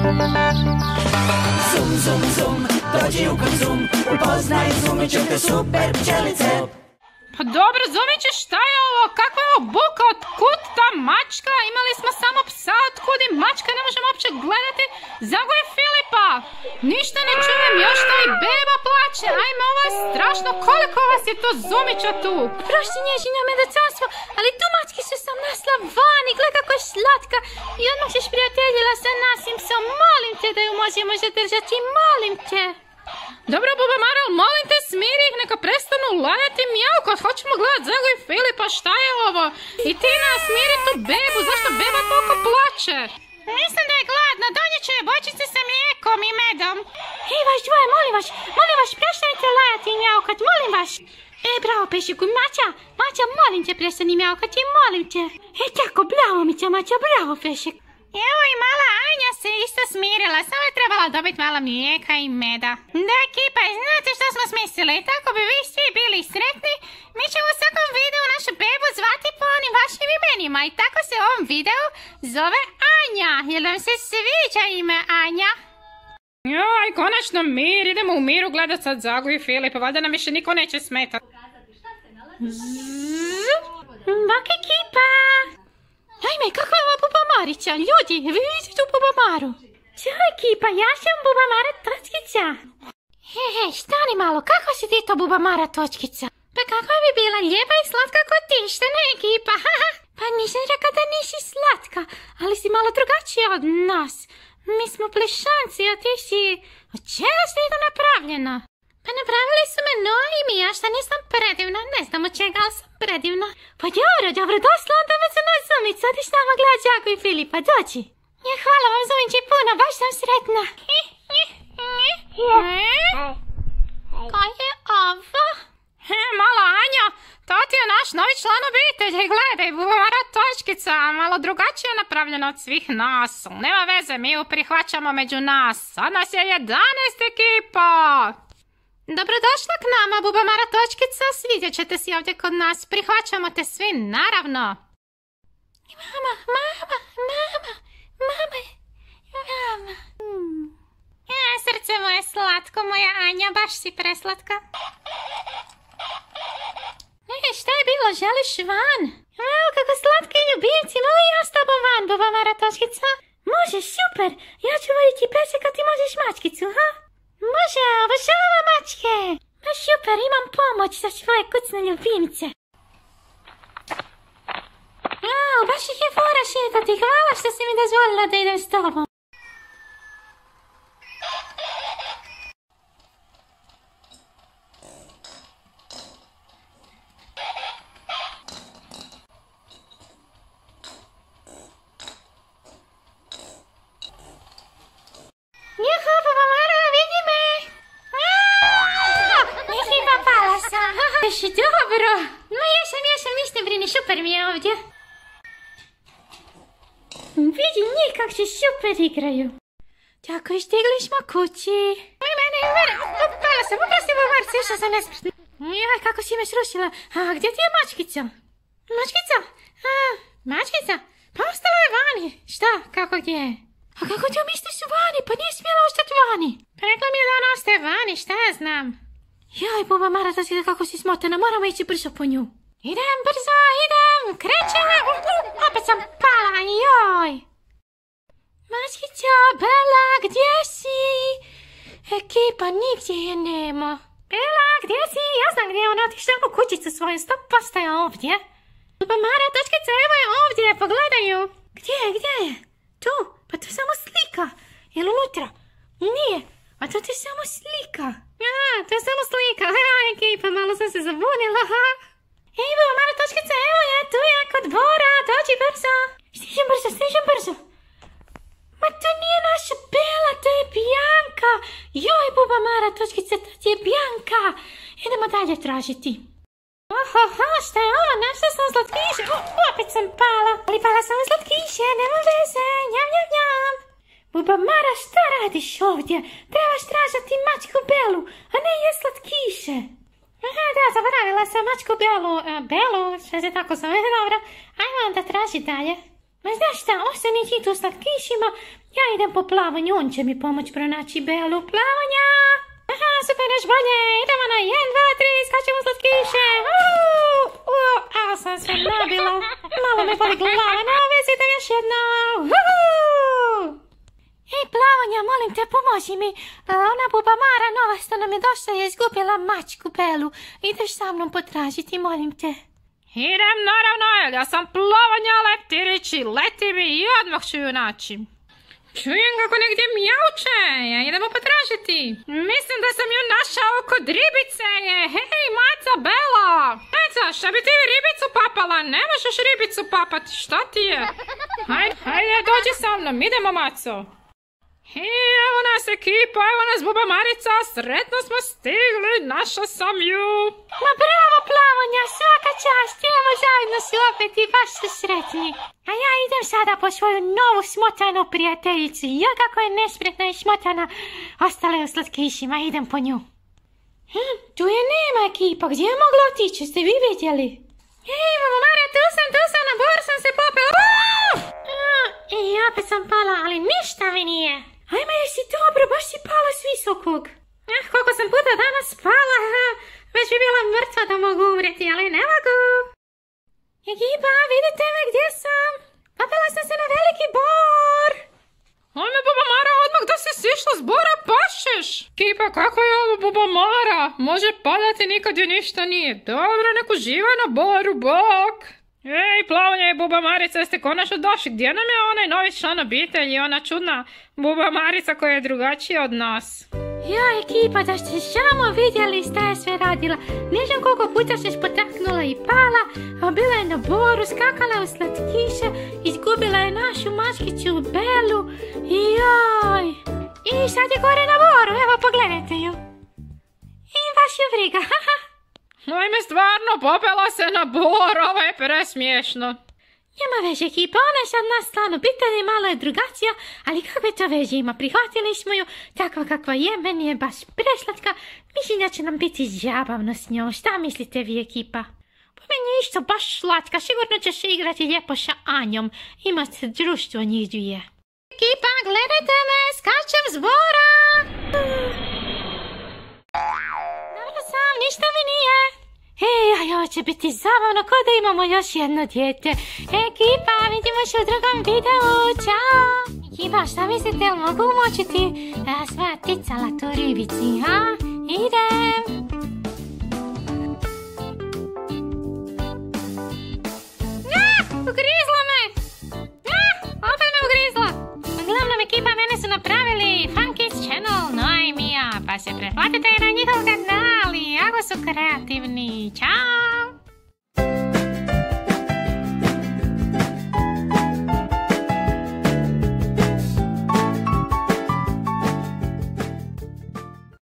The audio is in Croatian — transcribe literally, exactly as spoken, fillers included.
Zum, zum, zum, dođi u Konzum, upoznaj Zumićevke super pčelice. Pa dobro, Zumiće, šta je ovo? Kakva je ovo buka? Otkud ta mačka? Imali smo samo psa, otkud i mačka? Ne možemo uopće gledati. Zagoj Filipa! Ništa ne čujem, još to i beba plače. Ajme, ovo je strašno. Koliko vas je to Zumića tu? Prošli nježinja medocanstvo, ali tu mački su sam nasla vani. Gle kako je slatka. I odmah ćeš prijateljila sa nasim psom. Molim te da ju možemo zadržati, molim te. Dobro, Buba Mara, molim te, smiri ih, neka prestanu lajati i mjaukat. Hoćemo gledat Zago i Filipa, šta je ovo? I Tina, smiri tu bebu, zašto beba toliko plače? Mislim da je gladna, donijet ću je bočice sa mlijekom i medom. Ej, vaš dvoje, molim vas, molim vas, prestanite lajati i mjaukat, molim vas. E, bravo, Pešiku, Maća, Maća, molim te, prestani mjaukati, molim te. E, tako, bravo, Mića, Maća, bravo, Pešik. Evo i mala Anja se isto smirila, samo je trebala dobiti malo mlijeka i meda. Da, ekipa, znate što smo smislili? Tako bi vi svi bili sretni, mi ćemo u svakom videu našu bebu zvati po onim vašim imenima i tako se u ovom videu zove Anja. Jel vam se sviđa ime Anja? Joj, konačno mir, idemo u miru gledat sad Zagu i Filipa, valjda nam više niko neće smetati. Bok ekipa! Ajme, kakva je ova Buba Marića? Ljudi, vi vidite tu Buba Maru? Ćao ekipa, ja sam Buba Mara Točkica. He, he, stani malo, kako si ti to Buba Mara Točkica? Pa kakva bi bila lijepa i slatka kod ti, šta ne ekipa? Pa nisam rekao da nisi slatka, ali si malo drugačija od nas. Mi smo plešanci, a ti si... Od čega si to napravljena? Pa napravili su me novi mi, ja šta nisam predivna, ne znam od čega, ali sam predivna. Pa dobro, dobro, došla onda već za nas Zumić, sad iš nama gledat Đaku i Filipa, dođi. Ja, hvala vam Zumići puno, baš sam sretna. Ko je ovo? He, mala Anja, to ti je naš novi član obitelji, gledaj, Buba Mara Točkica, malo drugačije napravljeno od svih nas. Nema veze, mi ju prihvaćamo među nas, sad nas je jedanaest ekipa. Dobrodošla k nama, Buba Mara Točkica, svidjet ćete si ovdje kod nas, prihvaćamo te svi, naravno. Mama, mama, mama, mama, mama. Hmm. E, srce moje slatko, moja Anja, baš si preslatka. E, šta je bilo, želiš van? Evo, kako slatki ljubimci, mogu ja s tobom van, Buba Mara Točkica? Može, super, ja ću voditi pesek, a ti možeš mačkicu, ha? Može, obožavam mačke! Pa super, imam pomoć za svoje kucne ljubimce. Au, baš ih je fora šetati, hvala što si mi dozvolila da idem s tobom. Juhu, Buba Mara, vidi me! Ekipa, pala sam. Baš dobro. Ma jesam, jesam, ništa brini, super mi je ovdje. Vidi njih kak se super igraju. Tako i stigli smo kući. Aj mene, mene, pala sam, uprosti Buba Mara, sve što sam nespretna. Joj, kako si me srušila. A gdje ti je mačkica? Mačkica? A, mačkica? Pa ostala je vani. Šta, kako gdje je? A kako ti misliš u vani? Pa nije smjela ostati vani. Pa rekla mi je da ona ostaje vani, šta ja znam. Joj, Buba Mara, da si kako si smotana, moramo ići brzo po nju. Idem brzo, idem, krećem. Opet sam pala, joj. Mačkica, Bela, gdje si? Ekipa, nigdje je nema. Bela, gdje si? Ja znam gdje je ona otišla u kućicu svoju, sto posto je ovdje. Buba Mara, Točkica, evo je ovdje, pogledaj ju. Gdje je, gdje je? Tu, pa to je samo slika. Jel unutra? Nije, a to ti je samo slika. Aha, to je samo slika. Ha, ekipa, malo sam se zabunila. Ej, Buba Mara Točkica, evo je, tu je kod Bora, dođi brzo. Stižem brzo, stižem brzo. Ma to nije naša Bela, to je Bianka. Joj, Buba Mara Točkica, to je Bianka. Idemo dalje tražiti. Ohoho, šta je ovo? Našla sam slatkiše. O, opet sam pala. Ali pala sam u slatkiše, nema veze. Njam, njam, njam. Buba Mara, šta radiš ovdje? Trebaš tražiti mačku Belu, a ne je slatkiše. Aha, da, zaboravila sam mačku Belu. A, Belu, šta se tako zove, dobro. Ajmo onda traži dalje. Ma znaš šta, ostani ti tu slatkišima, ja idem po plavanju, on će mi pomoć pronaći Belu. Plavanja! Aha, super, još bolje, idemo na jedan, dva, tri, skačemo slatkiše. Uuu, uuu, a sam se nabila, malo me boli glava, navezite još jedno. Uuu. Ej, Plavanja, molim te, pomozi mi, ona buba Mara nova što nam je došla je izgubila mačku Belu, ideš sa mnom potražiti, molim te. Idem naravno, jer ja sam Plavanja Leptirić i leti mi i odmah ću ju naći. Čujem kako negdje mjauče, ja idemo potražiti. Mislim da sam ju našao kod ribice je. Hej, maca Bela. Maca, šta bi ti ribicu papala? Ne možeš ribicu papati, šta ti je? Hajde, hajde, dođi sa mnom, idemo, maco. Hej, evo nas ekipa, evo nas buba Marica, sretno smo stigli, našao sam ju. Ma bravo, Plavanja, svaka čast, evo zajedno su opet i baš su sretni. A ja idem sada po svoju novu smotanu prijateljicu, ja kako je nespretna i smotana, ostala je u slatkišima, idem po nju. Hm, tu je nema ekipa, gdje je mogla otići, ste vi vidjeli? Hej, buba Mara, tu sam, tu sam, na bor sam se popela. I opet sam pala, ali ništa mi nije. Ajme, jesi dobro, baš si pala s visokog. Eh, koliko sam puta danas pala, već bi bila mrtva da mogu umreti, ali ne mogu. Ekipa, vidite me gdje sam? Popela sam se na veliki bor. Ajme, buba Mara, odmah da si sišla s bora, pašeš. Ekipa, kako je ovo, buba Mara? Može padati, nikad joj ništa nije. Dobro, nek uživa na boru, bok. Ej, Plavanja i buba Marica, jeste konačno došli? Gdje nam je onaj novi član obitelji, ona čudna buba Marica koja je drugačija od nas? Ja, ekipa, da ste samo vidjeli šta je sve radila. Ne znam koliko puta se spotaknula i pala, a bila je na boru, skakala je u slatkiše, izgubila je našu mačkiću Belu i joj. I sad je gore na boru, evo pogledajte ju. I baš je briga, haha. Ajme, stvarno, popela se na bor, ovo je presmiješno. Nema veze, ekipa, ona je sad nas stvarno pitanje, malo je drugačija, ali kakve to veze ima, prihvatili smo ju, takva kakva je, meni je baš preslatka, mislim da će nam biti zabavno s njom, šta mislite vi, ekipa? Po meni je isto baš slatka, sigurno će se igrati lijepo sa Anjom, imate društvo njih dvije. Ekipa, gledajte me, skačem s bora! Dobro sam, ništa mi nije. Ej, aj, ovo će biti zabavno, ko da imamo još jedno dijete. Ekipa, vidimo se u drugom videu, čao! Ekipa, šta mislite, li mogu umočiti a, svoja ticala tu ribici, ha? Idem! Ah, ugrizla me! Ah, opet me ugrizla! Uglavnom, ekipa, mene su napravili Funky's Channel, no i Mija, pa se pretplatite na njihov kanal i jako su kreativni. Ćao!